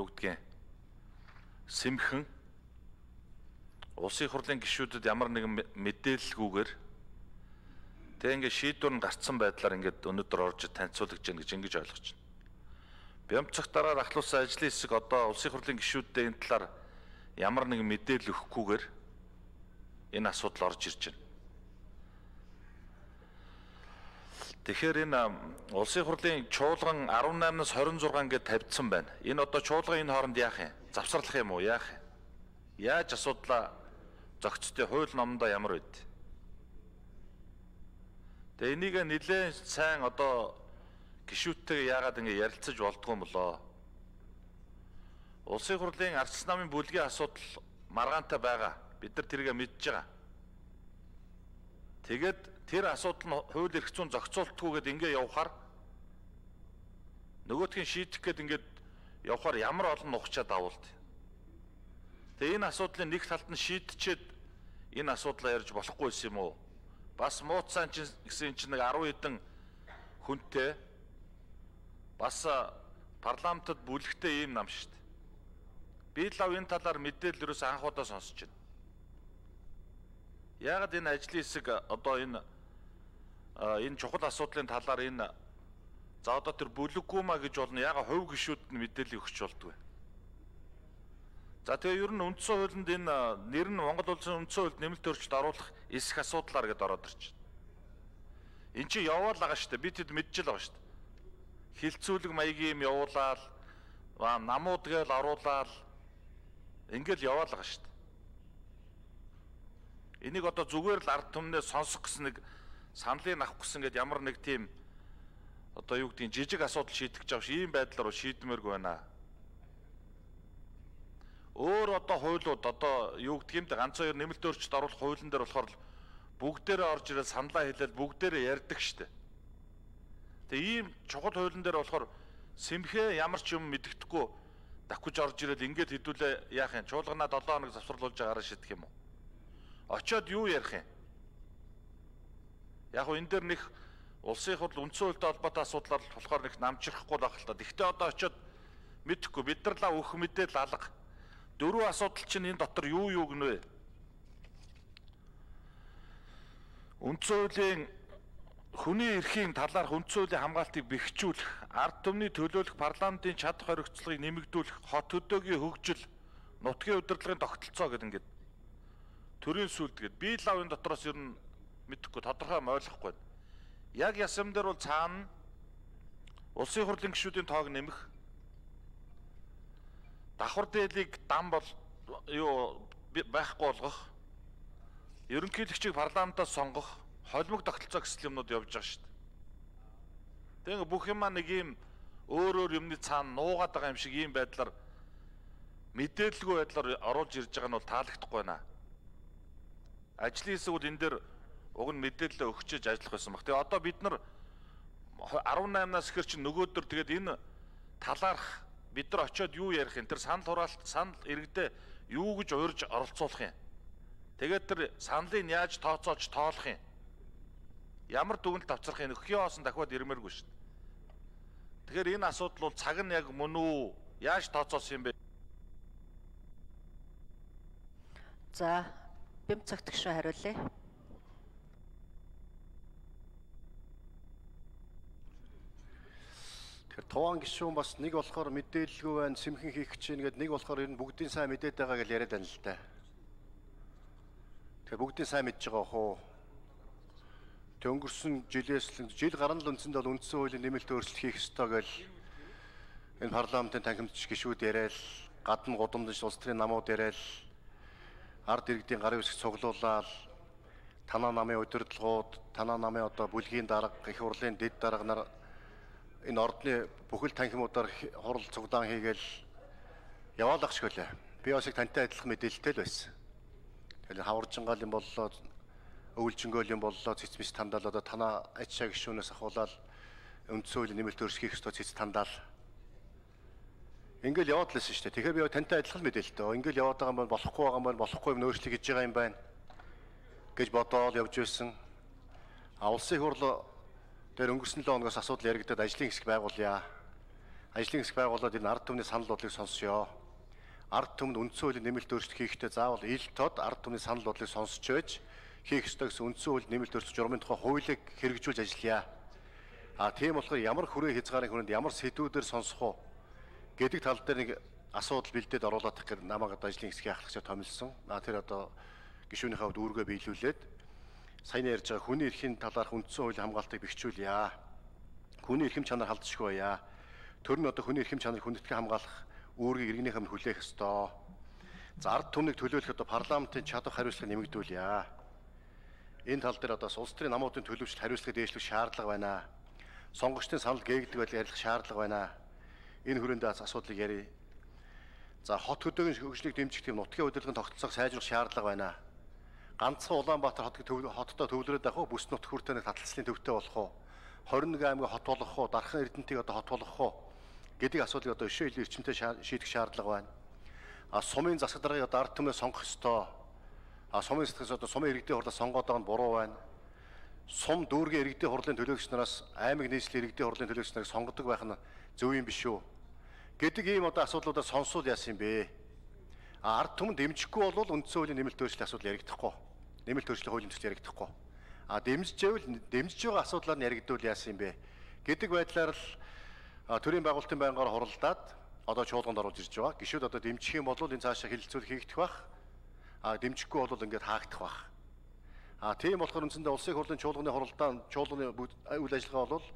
юу гэдгийг сэмхэн улсын хурлын гишүүдэд ямар нэгэн мэдээлэлгүйгээр тэг ингээд шийдвэр нь гарцсан байдлаар ингээд өнөөдөр орж танилцуулж гэнэ гэж ингэж ойлгож байна. Бямцах дараа ахлуулсан ажлын хэсэг одоо улсын хурлын гишүүддээ энэ талаар ямар нэгэн мэдээлэл өгөхгүйгээр энэ асуудал орж ирж байна. Тэгэхээр энэ улсын хурлын чуулган 18-наас 26 гээд тавьдсан байна. Энэ одоо чуулган энэ хооронд яах юм? Завсарлах юм уу? Яах юм? Яаж асуудлаа зохицтой хууль номдоо ямар байд? Тэгээ энийг нэлээд сайн одоо гишүүдтэйгээ яагаад ингэ ярилцаж болдгоо юм болоо? Улсын хурлын ардчилсан намын бүлгийн асуудал маргаантай байгаа. Бид нар тэргээ мэдж байгаа. Тэгээд тэр асуудал нь хууль эрх зүйн зохицуултгүйгээд ингэ явахаар нөгөөдхийн шийдэх гээд ингээд явахаар ямар олон нухчаа давуулт. Тэгээ энэ асуудлын нэг талд нь шийдчихэд энэ асуудлаа ярьж болохгүй юм уу? Бас мууцсан гэсэн чинь нэг 10 хэдэн хүнтэй бас парламентод бүлэгтэй ийм нам шүү дээ. Би л энэ талаар мэдээлэл ерөөс анхудаа сонсож байна. Яагаад энэ ажлын хэсэг одоо энэ чухал асуудлын талаар энэ за одоо тэр бүлэггүй маа гэж болно. Яагаад хувь гишүүд нь мэдээлэл өгч болдгоо. За тэгээ ер нь үндсэн хуулинд энэ нэр нь Монгол улсын үндсэн хуульд нэмэлт өөрчлөлт оруулах эсэх асуудлаар гэдээ ороод ирж байна. Энд чинь яваал байгаа шүү дээ. Би тэд мэдчихэл байгаа шүү дээ. Хилцүүлэг маягийн юм явуулаад намууд гээл оруулаад ингээл яваал байгаа шүү дээ. Энийг одоо зүгээр л ард түмнээ сонсох гэсэн нэг саналыг авах гэсэн гээд ямар нэг тийм одоо юу гэдгийг жижиг асуудал шийдэх гэж байгаа ш ийм байдлаар шийдмээргүй байна. Өөр одоо хуулиуд одоо юу гэдгийг ганц хоёр нэмэлт өөрчлөлт оруулах хуулийн дээр болохоор бүгдээрээ орж ирэл саналаа хэлэл бүгдээрээ ярьдаг штэ. Тэгээ ийм чухал хуулийн дээр болохоор сэмхээ ямар ч юм мэддэхгүй давхиж орж ирэл ингээд хэдүүлээ яах юм? Чуулганаа 7 хоног завсарлуулж байгаараа шийдэх юм уу? Очоод юу ярих юм? Яг энэ дээр нэг улсын хурл үндсэн хуультай холбоотой асуудлаар болохоор нэг намжирахгүй байх л та. Гэхдээ одоо очоод мэдэхгүй бид нар л өөх мэдээл алга. Дөрвөн асуудал чинь энэ дотор юу гэнэ вэ? Үндсэн хуулийн хүний эрхийн талаарх үндсэн хуулийн хамгаалтыг бэхжүүлэх, ард түмний төлөөлөх парламентын чадах хоригдцлогыг нэмэгдүүлэх, хот хөдөөгийн хөгжил, нутгийн удирдлагын тогтолцоо гэдэг ингээд төрийн сүлд гээд би л энэ дотроос ер нь мэдэхгүй тодорхой ойлгохгүй. Яг ясам дээр бол цаана улсын хурлын гишүүдийн тоог нэмэх, давхар дээлийг дам бол юу байхгүй болгох, ерөнхийлөгчийг парламентаас сонгох, холимог тогтолцоо гэсэн юмнууд явж байгаа шүү дээ. Тэгээ бүх юм нэг юм өөр юмны цаана нуугаад байгаа юм шиг ийм байдлаар мэдээлэлгүй байдлаар оруулж ирж байгаа нь бол таалагдахгүй байна. Ажлын хэсгүүд энэ дээр уг нь мэдээлэл өгчөж ажиллах байсан баг. Тэгээ одоо бид нар 18-наас ихэр чинь нөгөөдөр тэгээд энэ талаарх бид нар очиод юу ярих юм? Тэр санал хураалт, санал иргэдээ юу гэж уурж оролцуулах юм? Тэгээд тэр саналыг яаж тооцоолж тоолох юм? Ямар дүгнэлт авчрах юм? Өхийн хоосон дахиад ирмээргүй шүү дээ. Тэгэхээр энэ асуудал бол цаг нь яг мөн үү? Яаж тооцоолсон юм бэ? За, Бямцагт гишүүн хариулъя. Тэгэхээр туван гишүүн бас нэг болохоор мэдээлэлгүй байна, сэмхэн хийх гэж байна гэдэг, нэг болохоор ер нь бүгдийн сайн мэдээд байгаа гэж яриад байна л да. Тэгэхээр бүгдийн сайн мэдж байгаа хөө. Тэг өнгөрсөн жилээс жил гарна л үндсэндээ бол үндсэн хуулийн нэмэлт өөрчлөлт хийх ёстой гэж энэ парламентын танхимдч гишүүд яриад, гадна гудамж улс төрийн намууд яриад, ард иргэдийн гарын үсэг цуглуулаад, танаа намын удирдлагууд, танаа намын одоо бүлгийн дарга, их хурлын дэд дарга нар энэ ордны бүхэл танхимуудаар хурал цуглаан хийгээл яваалах шиг үлээ. Би бас их тантай адилхан мэдээлэлтэй л байсан. Тэгэхээр хаваржингаал юм боллоо, өвлжингөөл юм боллоо, цэцмэс тандаал одоо танаа ачаа гишүүнээс ахуулаад үндсэн хуулийн нэмэлт өөрчлөлт хийх ёстой цэц тандаал. Ингээл яваад лсэн шүү дээ. Тэгэхээр би тантай адилхан мэдээлэлтэй. Ингээл яваад байгаа юм бол болохгүй байгаа юм байна, болохгүй юм өөрчлөлт хийж байгаа юм байна гэж бодоод явж байсан. Улсын хурл дээр өнгөрсөн 7 хоногоос асуудал яригдаад ажлын хэсэг байгуулъя. ажлын хэсэг байгууллагууд энэ ард түмний санал бодлыг сонсё. Ард түмэнд үндсэн хуулийн нэмэлт өөрчлөлт хийхдээ заавал ил тод ард түмний санал бодлыг сонсч байж хийх ёстой гэсэн үндсэн хууль нэмэлт өөрчлөлт журмын тухай хуулийг хэрэгжүүлж ажиллая. Тийм болохоор ямар хүрээ хязгаарын хүрээнд ямар сэдвүүдээр сонсох уу гэдэг тал дээр нэг асуудал бэлдээд оруулах гэдэг намайг одоо ажлын хэсгийн ахлагчаа томилсон. Тэр одоо гишүүнийхээ хувьд үүргээ биелүүлээд сайн ярьж байгаа хүний эрхийн талаарх үндсэн хуулийн хамгаалтыг бэхжүүлье. Хүний эрхэм чанар халдшгүй байя. Төр нь одоо хүний эрхэм чанарыг хүндэтгэн хамгаалах үүргийг иргэнийхээ минь хүлээх ёстой. За ард түмнийг төлөөлөх одоо парламентын чадвар хариуцлагыг нэмэгдүүлье. Энэ тал дээр одоо улс төрийн намуудын төлөвшөлт хариуцлагыг дээшлэх шаардлага байна. Сонгогчдын санал гээгдэг байдлыг ярих шаардлага байна. Энэ хүрээндээ асуудлыг ярив. За хот хөдөөгийн хөгжлийг дэмжих тийм нутгийн удирдлагын тогтолцоог сайжруулах шаардлага байна. Ганцхан Улаанбаатар хоттой төвлөрөөд авах уу, бүс нутг хүртээ нэг таталцлын төвтэй болох уу, 21 аймаг хот болох уу, Дархан Эрдэнэтийг одоо хот болох уу гэдэг асуудлыг одоо өшөө хил эрчимтэй шийдэх шаардлага байна. Сумын засаг даргаыг одоо ард түмнээ сонгох ёстой. Сумын сэтгэс одоо сумын иргэдийн хурлаа сонгоод байгаа нь буруу байна. Сум дүүргийн иргэдийн хурлын төлөөлөгч нараас аймаг нийслэлийн иргэдийн хурлын төлөөлөгч нарыг сонгодог байх нь зөв юм биш үү? Гэдэг ийм одоо асуудлуудаар сонсвол яасан юм бэ? Ард түмэн дэмжихгүй бол үндсэн хуулийн нэмэлт өөрчлөлт асуудал яригдахгүй. Нэмэлт өөрчлөлт хуулийн төсөл яригдахгүй. Дэмжиж байгаа асуудлаар нь яригдвал яасан юм бэ? Гэдэг байдлаар л төрийн байгуулалтын байнгаар хуралдаад одоо чуулганд оруулж ирж байгаа. Гишүүд одоо дэмжих юм бол энэ цаашаа хилцүүл хийгдэх бах. Дэмжихгүй бол ингээд хаагдах бах. Тийм болохоор үндсэндээ улсын хурлын чуулганы үйл ажиллагаа бол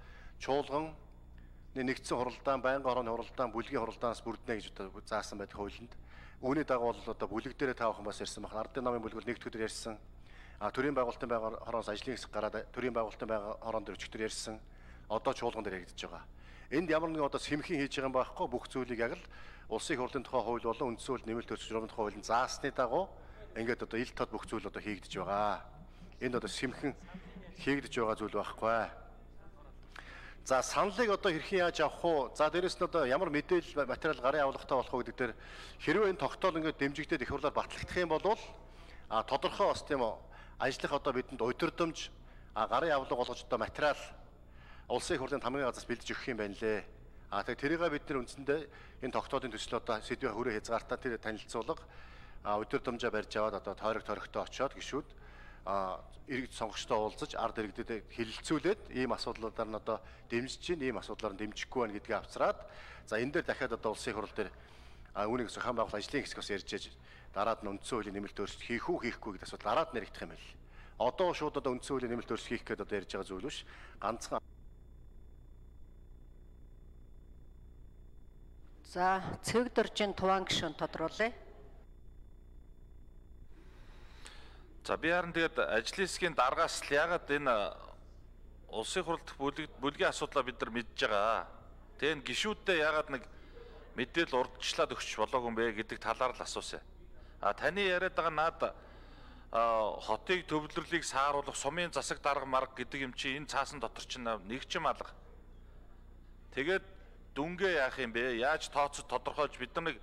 чуулган нэгдсэн хуралдаан, байнгын хорооны хуралдаан, бүлгийн хуралдаанаас бүрднэ гэж одоо заасан байдаг хуулинд. Үүний дагуу бол одоо бүлэг дээрээ таавхан бас ярьсан байна. Ардын намын бүлэг бол нэгд өдөр ярьсан. Төрийн байгуулалтын байнгын хороноос ажлын хэсэг гараад төрийн байгуулалтын байнгын хороон дээр өчигдөр ярьсан. Одоо чуулган дээр яригдж байгаа. Энд ямар нэгэн одоо сэмхэн хийж байгаа юм байхгүй бүх зүйлийг яг л улсын хурлын тухай хууль болон үндсэн хууль нэмэлт өөрчлөлт журмын тухай хуулийн заасны дагуу ингээд одоо ил тод бүх зүйл одоо хийгдэж байгаа. Энд одоо сэмхэн хийгдэж байгаа зүйл байхгүй. За саналыг одоо хэрхэн яаж авах уу? За дээрэс нь одоо ямар мэдээлэл материал гарын авлагатай болох уу гэдэг дээр хэрвээ энэ тогтоол ингээд дэмжигдээд их хурлаар батлагдах юм бол тодорхой бас тийм үү ажлах одоо бидэнд удирдамж гарын авлага болгож одоо материал улсын хурлын хамгийн газраас бэлдэж өгөх юм байна лээ. Тэгэхээр тэрийгээ бид нар үндсэндээ энэ тогтоолын төсөл одоо сэдвийн хүрээ хязгаартаа тэр танилцуулга удирдамжаа барьж аваад одоо тойрогтой очиод гишүүд иргэд сонгогчтой уулзаж ард иргэдэд хэлэлцүүлээд ийм асуудлуудаар нь одоо дэмжиж чинь ийм асуудлаар нь дэмжихгүй байна гэдгийг авцраад за энэ дээр дахиад одоо улсын хурал дээр үүнийг зохион байгуулалт ажлын хэсэг бас ярьж ээж дараад нь үндсэн хуулийн нэмэлт өөрчлөлт хийх үү хийхгүй гэдэг асуудал дараад нь яригдах юм байл. Одоо шууд одоо үндсэн хуулийн нэмэлт өөрчлөлт хийх гэдэг одоо ярьж байгаа зүйл биш. Ганцхан За цэг дөржин туван гишүүн тодруулъя. За би харин тэгээд ажлын хэсгийн даргаас л ягаад энэ улсын хурал дэх бүлгийн асуудлаа бид нар мэдж байгаа. Тэгээд гишүүддээ ягаад нэг мэдээлэл урдчлаад өгч болоогүй юм бэ гэдэг талаар л асуусан. Таны яриад байгаа над хотыг төвлөрлийг сааруулах сумын засаг дарга марга гэдэг юм чи энэ цаасан дотор чинь нэг ч юм алга. Тэгээд дүнгээ яах юм бэ? Яаж тооцож тодорхойлж бид нар нэг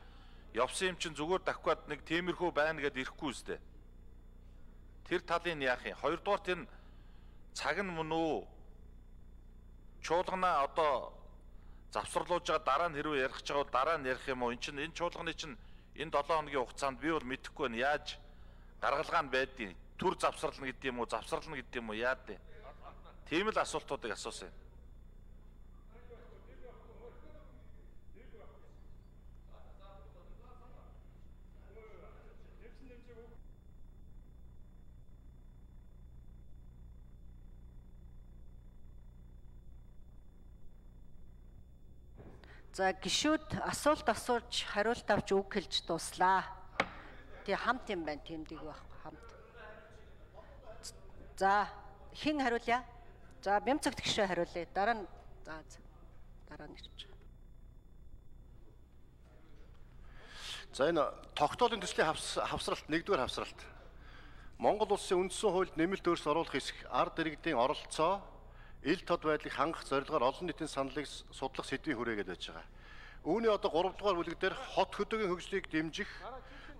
явсан юм чинь зүгээр давхиад нэг тиймэрхүү байна гэдээ ирэхгүй үстэй. Тэр талын яах юм? Хоёрдугаар тэр цаг нь мөн үү? Чуулганаа одоо завсарлуулж байгаа дараа нь хэрвээ ярих гэж байгаа дараа нь ярих юм уу? Энэ чуулганы чинь энэ 7 хоногийн хугацаанд би бол мэдэхгүй байна. Яаж гаргалгаа нь байдгийг төр завсарлна гэдэг юм уу? Завсарлна гэдэг юм уу? Яад вэ? Тийм л асуултуудыг асуусан. За гишүүд асуулт асууж хариулт авч үг хэлж дуслаа. Тэг хамт юм байна тэмдэг байхгүй хамт. За хэн хариулъя? За Бямцагт гишүү хариулъя. Дараа нь дараа нь ирж. За энэ тогтоолын төслийн хавсралт нэгдүгээр хавсралт. Монгол улсын үндсэн хуульд нэмэлт өөрчлөлт оруулах хэсэг ард иргэдийн оролцоо ил тод байдлыг хангах зорилгоор олон нийтийн саналыг судлах сэдвийн хүрээгээд байж байгаа. Үүний одоо 3 дугаар бүлэг дээр хот хөдөөгийн хөгжлийг дэмжих,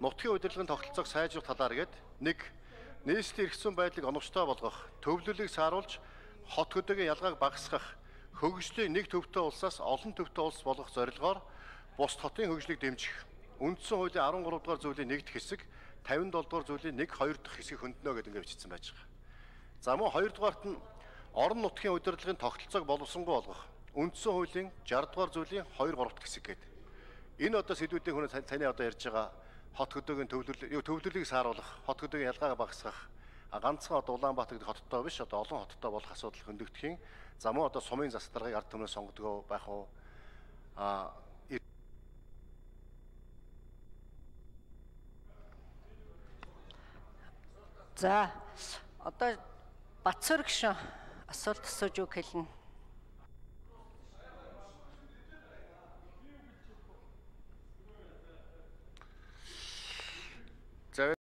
нутгийн удирдлагын тогтолцоог сайжруулах талаар гээд нэг нийслэлийн эрх зүйн байдлыг оновчтой болгох, төвлөлийг сааруулж хот хөдөөгийн ялгааг багасгах, хөгжлийн нэг төвтэй улсаас олон төвтэй улс болгох зорилгоор бус хотын хөгжлийг дэмжих. Үндсэн хуулийн 13 дугаар зүйлийн нэгдэх хэсэг, 57 дугаар зүйлийн 1-2 дахь хэсгийг хөндлөнө гэдэг ингээд бичсэн байж байгаа. За мөн 2 дугаарт нь орон нутгийн удирдлагын тогтолцоог боловсронгуй болгох. Үндсэн хуулийн 60 дугаар зүйлийн 2-3 дахь хэсэг гэдэг. Энэ одоо сэдвүүдийн хүн таны одоо ярьж байгаа хот хөдөөгийн төвлөлийг сааруулах, хот хөдөөгийн ялгааг багасгах, ганцхан одоо Улаанбаатар гэдэг хоттой биш одоо олон хоттой болох асуудал хөндөгдөхийн за мөн одоо сумын засдаргыг ард түмнээс сонгодог байх уу За одоо Батцөр гişүн асуулт асууж үг хэлнэ. За